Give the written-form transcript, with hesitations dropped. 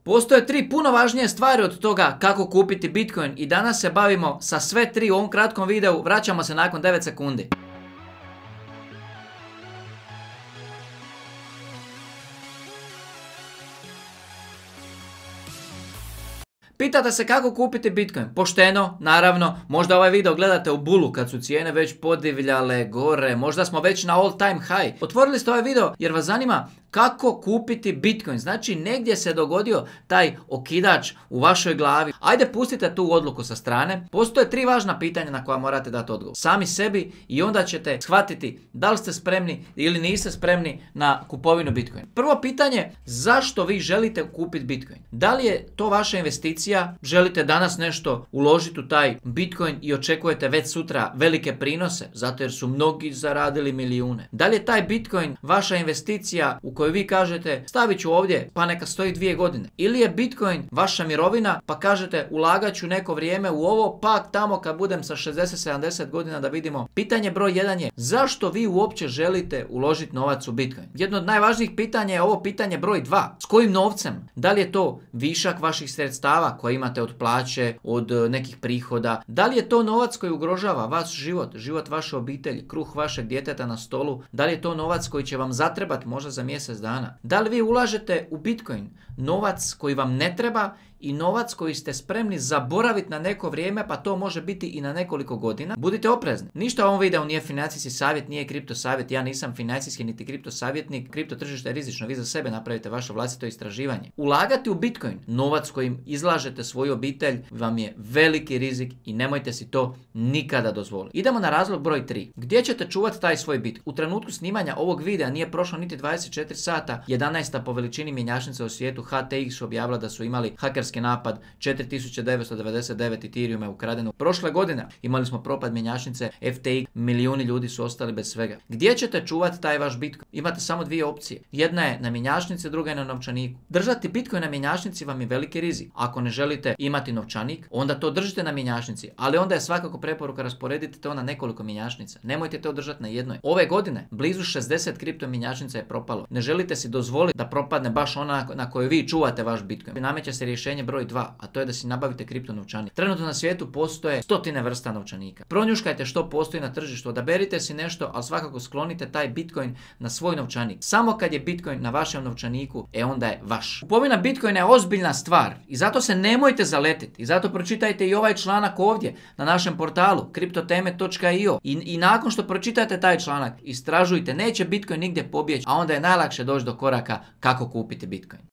Postoje 3 puno važnije stvari od toga kako kupiti Bitcoin i danas se bavimo sa sve 3 u ovom kratkom videu. Vraćamo se nakon 9 sekundi. Pitate se kako kupiti Bitcoin? Pošteno, naravno, možda ovaj video gledate u bulu kad su cijene već podivljale gore, možda smo već na all time high. Otvorili ste ovaj video jer vas zanima kako kupiti Bitcoin, znači negdje se dogodio taj okidač u vašoj glavi. Ajde pustite tu odluku sa strane, postoje 3 važna pitanja na koja morate dati odgovor. Sami sebi i onda ćete shvatiti da li ste spremni ili niste spremni na kupovinu Bitcoin. Prvo pitanje, zašto vi želite kupiti Bitcoin? Da li je to vaša investicija? Želite danas nešto uložiti u taj Bitcoin i očekujete već sutra velike prinose, zato jer su mnogi zaradili milijune? Da li je taj Bitcoin vaša investicija u kojoj vi kažete stavit ću ovdje pa neka stoji 2 godine? Ili je Bitcoin vaša mirovina pa kažete ulagat ću neko vrijeme u ovo pa tamo kad budem sa 60-70 godina da vidimo? Pitanje broj 1 je zašto vi uopće želite uložiti novac u Bitcoin? Jedno od najvažnijih pitanja je ovo pitanje broj 2. S kojim novcem? Da li je to višak vaših sredstava koje imate od plaće, od nekih prihoda? Da li je to novac koji ugrožava vaš život, život vaše obitelji, kruh vašeg djeteta na stolu? Da li je to novac koji će vam zatrebati možda za mjesec dana? Da li vi ulažete u Bitcoin novac koji vam ne treba i novac koji ste spremni zaboraviti na neko vrijeme, pa to može biti i na nekoliko godina? Budite oprezni. Ništa u ovom videu nije financijski savjet, nije kripto savjet, ja nisam financijski niti kripto savjetnik. Kripto tržište je rizično, vi za sebe napravite vaše vlastito istraživanje. Ulagati u Bitcoin, novac kojim izlažete svoju obitelj, vam je veliki rizik i nemojte si to nikada dozvoliti. Idemo na razlog broj 3. Gdje ćete čuvati taj svoj Bitcoin? U trenutku snimanja ovog videa nije prošlo niti 24 sata, 11. po veličini mjenjačnica u svijetu HTX objavila da su imali hakerski napad, 4999 Ethereum je ukradeno. Prošle godine imali smo propad mjenjačnice FTX, milijuni ljudi su ostali bez svega. Gdje ćete čuvati taj vaš Bitcoin? Imate samo 2 opcije. Jedna je na mjenjačnici, druga je na novčaniku. Držati Bitcoin na mjenjačnici vam je veliki rizik. Ako ne želite imati novčanik, onda to držite na mjenjačnici, ali onda je svakako preporuka rasporediti to na nekoliko mjenjačnica. Nemojte to držati na jednoj. Ove godine blizu 60 kripto mjenjačnica je propalo. Ne želite si dozvoliti da propadne baš ona na kojoj vi čuvate vaš Bitcoin. Nameće se rješenje broj 2, a to je da si nabavite kripto novčanik. Trenutno na svijetu postoje stotine vrsta novčanika. Pronjuškajte što postoji na tržištu, odaberite si nešto, ali svakako sklonite taj Bitcoin na svoj novčanik. Samo kad je Bitcoin na vašem novčaniku, onda je vaš. Kupovina Bitcoina je ozbiljna stvar i zato se nemojte zaletiti. I zato pročitajte i ovaj članak ovdje na našem portalu kriptoteme.io i nakon što pročitate taj članak, istražujte, neće Bitcoin nigdje pobjeći, a onda je najlakše doći do koraka kako kupiti Bitcoin.